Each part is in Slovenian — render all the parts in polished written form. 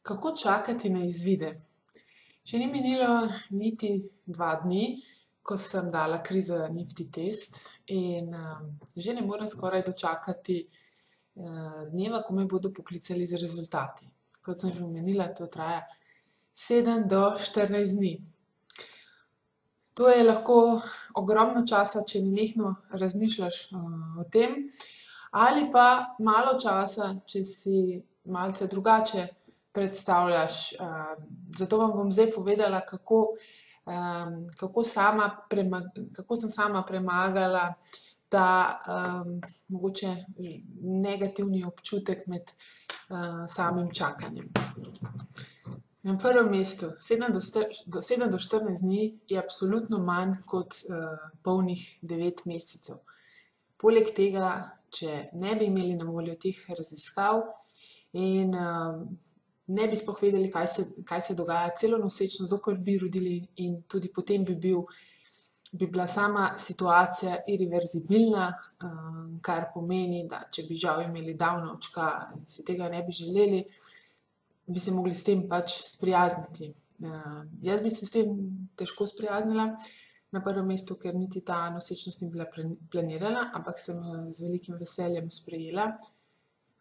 Kako čakati na izvide? Še ni minilo niti 2 dni, ko sem dala kriza Nifty test in že ne morem skoraj dočakati dneva, ko me bodo poklicali z rezultati. Kot sem že omenila, to traja 7 do 14 dni. To je lahko ogromno časa, če nenehno razmišljaš o tem, ali pa malo časa, če si malce drugače predstavljaš. Zato vam bom zdaj povedala, kako sem sama premagala ta mogoče negativni občutek med samim čakanjem. Na prvem mestu, 7 do 14 dni je absolutno manj kot polnih 9 mesecev. Poleg tega, če ne bi imeli na voljo teh raziskav in ne bi sploh vedeli, kaj se dogaja celo nosečnost, dokler bi rodili, in tudi potem bi bila sama situacija irreverzibilna, kar pomeni, da če bi žal imeli Downovčka in si tega ne bi želeli, bi se mogli s tem pač sprijazniti. Jaz bi se s tem težko sprijaznila, na prvem mestu, ker niti ta nosečnost ni bila planirana, ampak sem z velikim veseljem sprejela.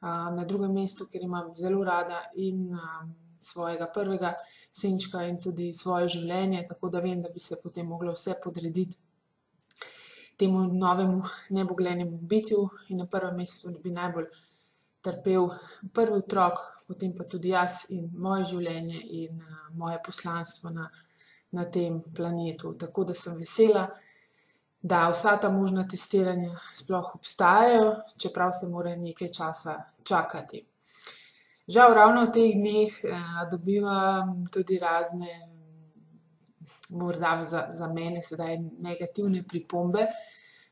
Na drugem mestu, ker imam zelo rada in svojega prvega sinčka in tudi svoje življenje, tako da vem, da bi se potem moglo vse podrediti temu novemu neboglenemu bitju, in na prvem mestu bi najbolj trpel prvi otrok, potem pa tudi jaz in moje življenje in moje poslanstvo na tem planetu. Tako da sem vesela, da vsa ta možna testiranja sploh obstajajo, čeprav se mora nekaj časa čakati. Žal ravno v teh dneh dobivam tudi razne, morda za mene sedaj negativne pripombe,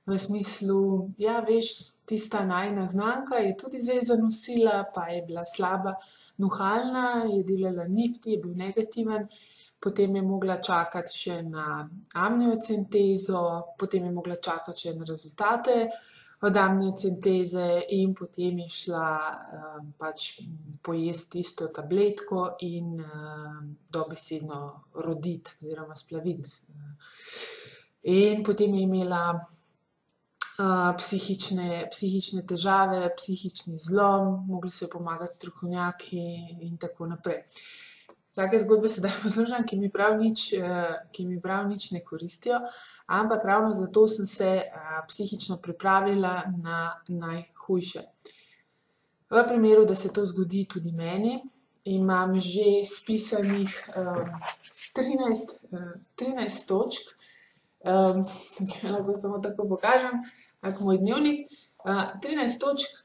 v smislu, ja, veš, tista najina znanka je tudi zdaj zanosila, pa je bila slaba nuhalna, je delala Nifty, je bil negativen, potem je mogla čakati še na amniocentezo, potem je mogla čakati še na rezultate od amniocenteze in potem je šla pač pojesti tisto tabletko in dobesedno roditi oziroma splaviti. In potem je imela psihične težave, psihični zlom, mogli so ji pomagati strokovnjaki in tako naprej. Take zgodbe sedaj poslušam, ki mi prav nič ne koristijo, ampak ravno zato sem se psihično pripravila na najhujše. V primeru, da se to zgodi tudi meni, imam že spisanih 13 točk, lahko samo tako pokažem, moj dnevnik, 13 točk,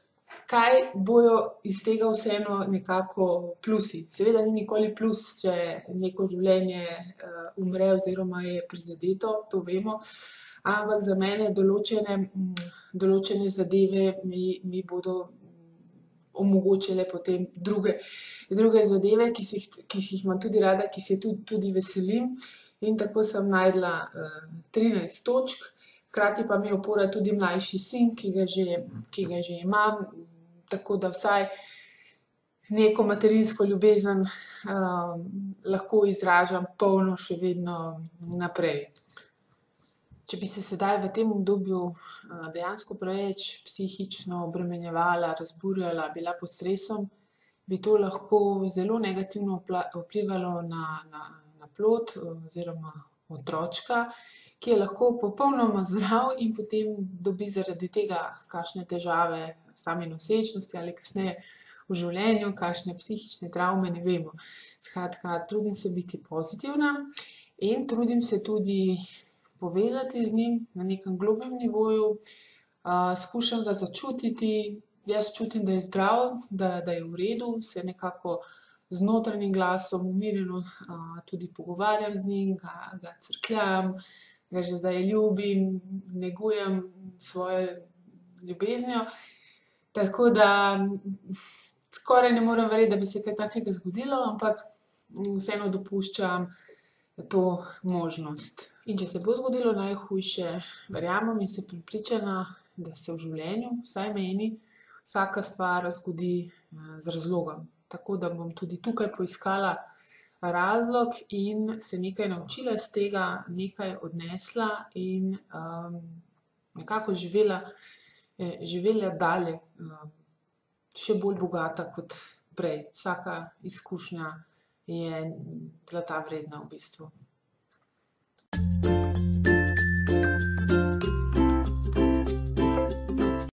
kaj bojo iz tega vseeno nekako plusi. Seveda ni nikoli plus, če neko življenje umre oziroma je prizadeto, to vemo, ampak za mene določene zadeve mi bodo omogočile potem druge zadeve, ki jih imam tudi rada, ki se tudi veselim, in tako sem našla 13 točk. Hkrati pa mi je opora tudi mlajši sin, ki ga že imam, tako da vsaj neko materinsko ljubezen lahko izražam polno še vedno naprej. Če bi se sedaj v tem obdobju dejansko preveč psihično obremenjevala, razburjala, bila pod stresom, bi to lahko zelo negativno vplivalo na plod oziroma otročka, ki je lahko popolnoma zdrav in potem dobi zaradi tega kakšne težave same nosečnosti ali kasneje v življenju, kakšne psihične travme, ne vemo. Skratka, trudim se biti pozitivna in trudim se tudi povezati z njim na nekem globjem nivoju, skušam ga začutiti, jaz čutim, da je zdrav, da je v redu, se nekako z notranjim glasom umirjeno tudi pogovarjam z njim, ga crkljam, ga že zdaj ljubim, negujem svojo ljubeznijo. Tako da skoraj ne morem verjeti, da bi se kaj takega zgodilo, ampak vseeno dopuščam to možnost. In če se bo zgodilo najhujše, verjamem in sem prepričana, da se v življenju, vsaj meni, vsaka stvar zgodi z razlogom. Tako da bom tudi tukaj poiskala razlog in se nekaj naučila iz tega, nekaj odnesla in nekako živela dalje, še bolj bogata kot prej. Vsaka izkušnja je zlata vredna v bistvu.